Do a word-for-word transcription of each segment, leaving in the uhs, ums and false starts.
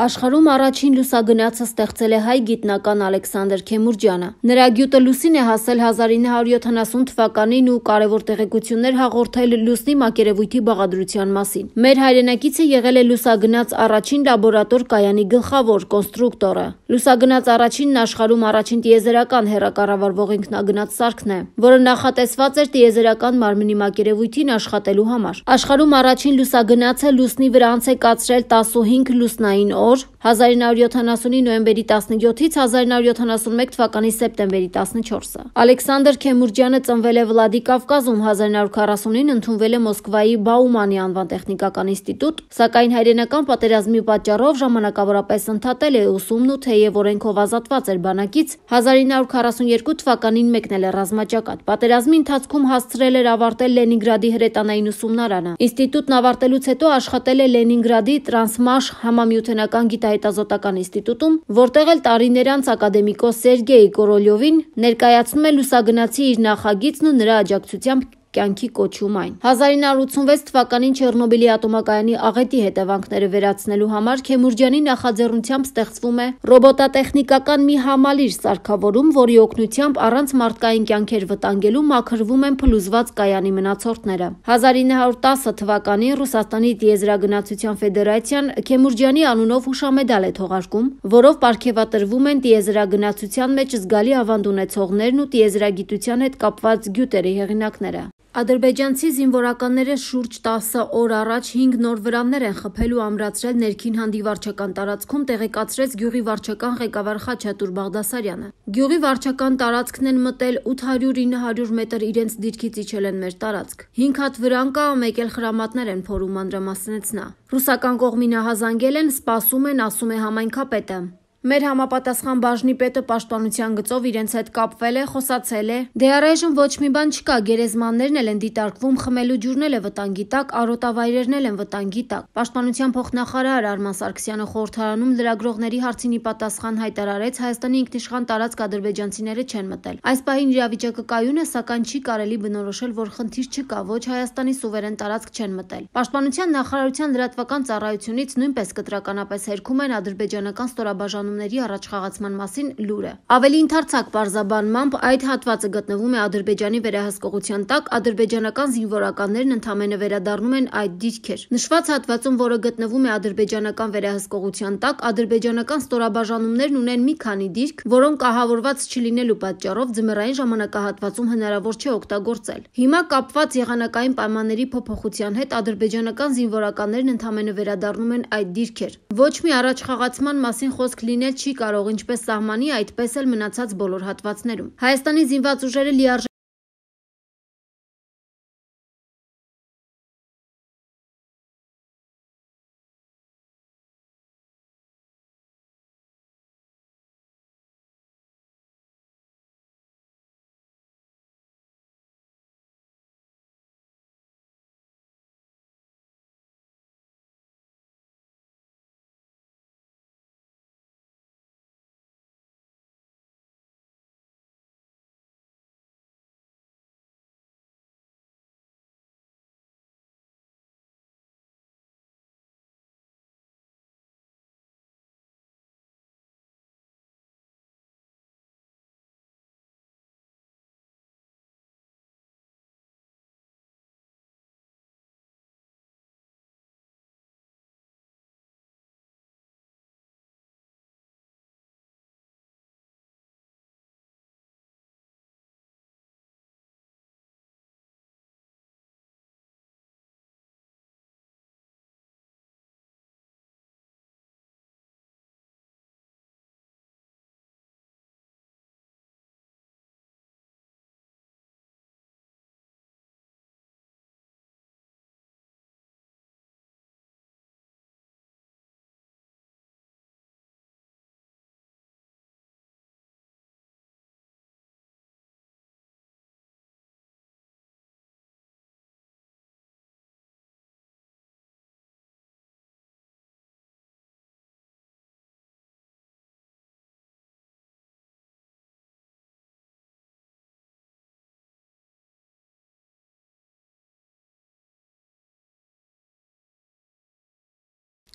Աշխարհում առաջին լուսագնացը ստեղծել է հայ գիտնական Ալեքսանդր Քեմուրջյանը։ Նրա գյուտը լուսին է հասել հազար ինը հարյուր յոթանասուն թվականին ու կարևոր տեղեկություններ հաղորդել լուսնի մակերևույթի բաղադրության մասին։ Մեր հայրենակիցը եղել է լուսագնաց առաջին լաբորատոր կայանի գլխավոր կոնստրուկտորը։ Լուսագնաց առաջինն աշխարհում առաջին տիեզերական հեռակառավարվող ինքնագնաց սարքն է, որը նախատեսված էր տիեզերական մարմնի մակերևույթին աշխատելու համար։ Աշխարհում առաջին լուսագնացը լուսնի վրա անց է կացրել տասնհինգ լուսնային օր հազար ինը հարյուր յոթանասունի նոյեմբերի տասնյոթից հազար ինը հարյուր յոթանասունմեկ թվականի սեպտեմբերի տասնչորսը։ Ալեքսանդր Քեմուրջյանը ծնվել է Վլադիկավկազում, հազար ինը հարյուր քառասունին ընդունվել է Մոսկվայի Բաումանի անվան տեխնիկական ինստիտուտ, սակայն հայրենական պատերազմի պատճառով ժամանակավորապես ընդհատել է ուսումն ու թեև օրենքով ազատված էր բանակից, հազար ինը հարյուր քառասունյոթ թվականին մեկնել է ռազմաճակատ։ Պատերազմի ընթացքում հասցրել էր ավարտել Լենինգրադի հրետանային ուսումնարանը։ Ինստիտուտն ավարտելուց հետո աշխատել է Լենինգրադի Տրանսմաշ համամիութենական գիտահետազոտական ինստիտուտում, որտեղ էլ տարիներ անց ակադեմիկոս Սերգեյ Կորոլյովին ներկայացնում է լուսագնացի իր նախագիծն ու նրա աջակցությամբ կյանքի կոչում այն։ հազար ինը հարյուր ութսունվեց թվականին Չեռնոբիլի ատոմակայանի աղետի հետևանքները վերացնելու համար Քեմուրջյանի նախաձեռնությամբ ստեղծվում է ռոբոտատեխնիկական մի համալիր սարքավորում, որի օգնությամբ առանց մարդկային կյանքեր վտանգելու մաքրվում են փլուզված կայանի մնացորդները։ հազար ինը հարյուր տասը թվականին Ռուսաստանի տիեզերագնացության ֆեդերացիան Քեմուրջյանի անունով հուշամեդալ է թողարկում, որով պարգևատրվում են տիեզերագնացության մեջ զգալի ավանդ ունեցողներն ու տիեզերագիտության հետ կապված գյուտերի հեղինակները։ Ադրբեջանցի զինվորականները շուրջ տասը օր առաջ հինգ նոր վրաններ են խփել ու ամրացրել ներքին հանդի վարչական տարածքում, տեղեկացրեց գյուղի վարչական ղեկավար Խաչատուր Բաղդասարյանը։ Գյուղի վարչական տարածքն են մտել ութ հարյուր ինը հարյուր մետր իրենց դիրքից իջել են մեր տարածք։ հինգ հատ վրան կա, մեկ էլ խրամատներ են փորում, մանրամասնեց նա։ Ռուսական կողմին ահազանգել են, սպասում են, ասում է համայնքապետը։ Մեր համապատասխան բաժնի պետը պաշտպանության գծով իրենց հետ կապվել է, խոսացել է։ Դե առայժմ ոչ մի բան չկա, գերեզմաններն էլ են դիտարկվում, խմելու ջուրն էլ է վտանգի տակ, արոտավայրերն էլ են վտանգի տակ։ Պաշտպանության փոխնախարար Արման Սարգսյանը խորհրդարանում լրագրողների հարցին ի պատասխան հայտարարեց, Հայաստանի ինքնիշխան տարածք ադրբեջանցիները չեն մտել։ Այս պահին իրավիճակը կայուն է, սակայն չի կարելի բնորոշել, որ խնդիր չկա, ոչ Հայաստանի սուվերեն տարածք չեն մտել։ Պաշտպանության նախարարության լրատվական ծառայությունից նույնպես կտրականապես հերքում են ադրբեջանական ստորաբաժանումների առաջխաղացման մասին լուրը։ Ավելի ընդարձակ պարզաբանմամբ այդ հատվածը գտնվում է Ադրբեջանի վերահսկողության տակ, ադրբեջանական զինվորականներն ընդամենը վերադառնում են այդ դիրքեր։ Նշված հատվածում, որը գտնվում է ադրբեջանական վերահսկողության տակ, ադրբեջանական ստորաբաժանումներն ունեն մի քանի դիրք, որոնք ահավորված չլինելու պատճառով ձմեռային ժամանակահատվածում հնարավոր չէ օգտագործել։ Հիմա կապված եղանակային պայմանների փոփոխության հետ ադրբեջանական զինվորականներն ընդամենը վերադառնում են այդ դիրքեր։ Ոչ մի առաջխաղացման մասին խոսք լինել չի կարող ինչպես սահմանի, այդպես էլ մնացած բոլոր հատվածներում։ Հայաստանի զինված ուժերը լիարժեք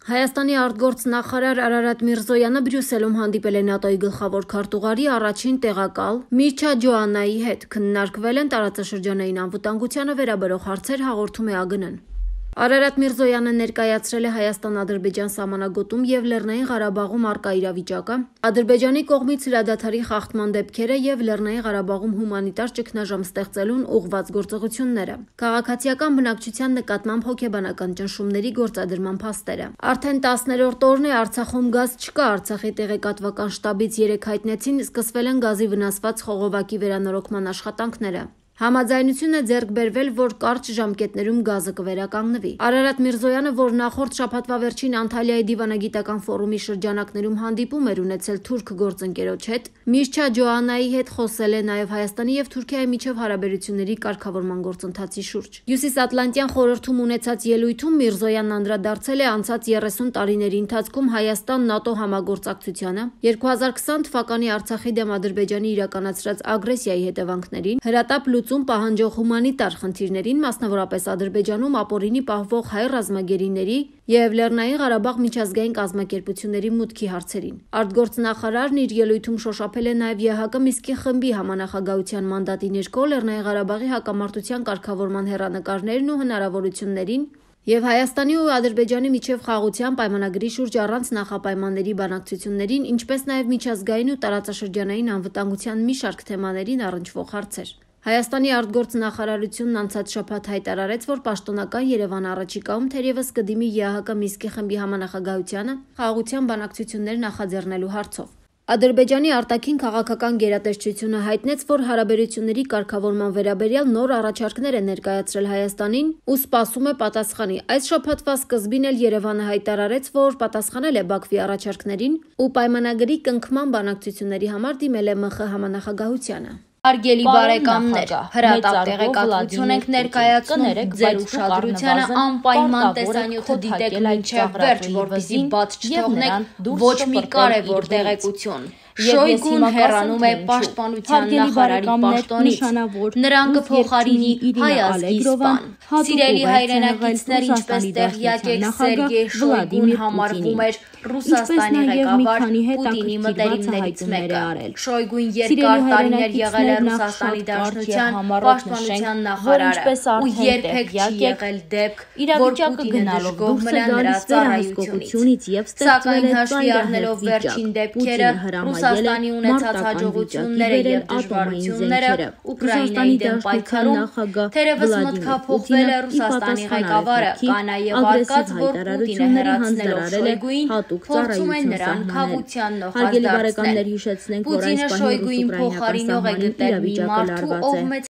Հայաստանի արտգործնախարար Արարատ Միրզոյանը Բրյուսելում հանդիպել է ՆԱՏՕ-ի գլխավոր քարտուղարի առաջին տեղակալ Միրչա Ջոաննայի հետ։ Քննարկվել են տարածաշրջանային անվտանգությանը վերաբերող հարցեր, հաղորդում է ԱԳՆ-ն։ Արարատ Միրզոյանը ներկայացրել է Հայաստան-Ադրբեջան սահմանագոտում եւ Լեռնային Ղարաբաղում առկա իրավիճակը, Ադրբեջանի կողմից հրադադարի խախտման դեպքերը եւ Լեռնային Ղարաբաղում հումանիտար ճգնաժամ ստեղծելուն ուղղված գործողությունները, քաղաքացիական բնակչության նկատմամբ հոգեբանական ճնշումների գործադրման փաստերը։ Արդեն տասներորդ օրն է Արցախում գազ չկա, Արցախի տեղեկատվական շտաբից երեկ հայտնեցին սկսվել են գազի վնասված խողովակի վերանորոգման աշխատանքները։ Համաձայնություն է ձեռք բերվել, որ կարճ ժամկետներում գազը կվերականգնվի։ Արարատ Միրզոյանը, որ նախորդ շաբաթվա վերջին Անտալիայի դիվանագիտական ֆորումի շրջանակներում հանդիպում էր ունեցել թուրք գործընկերոջ հետ, Միրչա Ջոաննայի հետ խոսել է նաև Հայաստանի եւ Թուրքիայի միջև հարաբերությունների կարգավորման գործընթացի շուրջ։ Հյուսիսատլանտյան խորհրդում ունեցած ելույթում Միրզոյանն անդրադարձել է անցած երեսուն տարիների ընթացքում Հայաստան-ՆԱՏՕ համագործակցությանը, երկու հազար քսան թվականի Արցախի դեմ Ադրբեջանի իրականացրած ագրեսիայի հետևանքներին, հրատապ պահանջող հումանիտար խնդիրներին, մասնավորապես Ադրբեջանում ապօրինի պահվող հայ ռազմագերիների եւ Լեռնային Ղարաբաղ միջազգային կազմակերպությունների մուտքի հարցերին։ Արտգործնախարարն իր ելույթում շոշափել է նաեւ ԵՀԿ Միսկի խմբի համանախագահության մանդատի ներքո Լեռնային Ղարաբաղի հակամարտության կարգավորման հեռանկարներն ու հնարավորություններին եւ Հայաստանի ու Ադրբեջանի միջև խաղաղության պայմանագրի շուրջ առանց նախապայմանների բանակցություններին, ինչպես նաեւ միջազգային ու տարածաշրջանային անվտանգության մի շարք թեմաներին առնչվող հարցեր։ Հայաստանի արտգործնախարարությունն անցած շաբաթ հայտարարեց, որ պաշտոնական Երևան առաջիկայում թերևս կդիմի ԵՀԿ Միսկի խմբի համանախագահությանը խաղաղության բանակցություններ նախաձեռնելու հարցով։ Ադրբեջանի արտաքին քաղաքական գերատեսչությունը հայտնեց, որ հարաբերությունների կարգավորման վերաբերյալ նոր առաջարկներ է ներկայացրել Հայաստանին ու սպասում է պատասխանի։ Այս շաբաթվա սկզբին էլ Երևանը հայտարարեց, որ պատասխանել է Բաքվի առաջարկներին ու պայմանագրի կնքման բանակցությունների համար դիմել է ՄԽ համանախագահությանը։ Հարգելի բարեկամներ, հրատապ տեղեկատվություն ենք ներկայացնում ձեր ուշադրությանը անպայման տեսանյութը դիտեք մինչև վերջ, որպեսզի բաց չթողնեք ոչ մի կարևոր տեղեկություն։ Շոյգուն հեռանում է պաշտպանության նախարարի պաշտոնից, նրան կփոխարինի Հայ ազգի սպան։ Սիրելի հայրենակիցներ, ինչպես տեղյակ եք, Սերգեյ Շոյգուն համարվում էր Ռուսաստանի ղեկավար Պուտինի մտերիմներից մեկը։ Շոյգուն երկար տարիներ եղել է Ռուսաստանի Դաշնության պաշտպանության նախարարը ու երբեք չի եղել դեպք, որ Պուտինը դժգոհ մնա նրա ծառայությունից։ Սակայն հաշվի առնելով վերջին դեպքերը, Ռուսաստանի ունեցած հաջողությունները եւ դժվարությունները Ուկրաինայի դեմ պայքարում, թերևս մտքափոխվել է Ռուսաստանի ղեկավարը, կա նաեւ արկած, որ Պուտինը հեռացնելով Շոյգուին փորձում է նրան խաղաղության նոխազդարցնել։ Պուտինը Շոյգուին փոխարինող է գտել մի մարդու, ով մեծ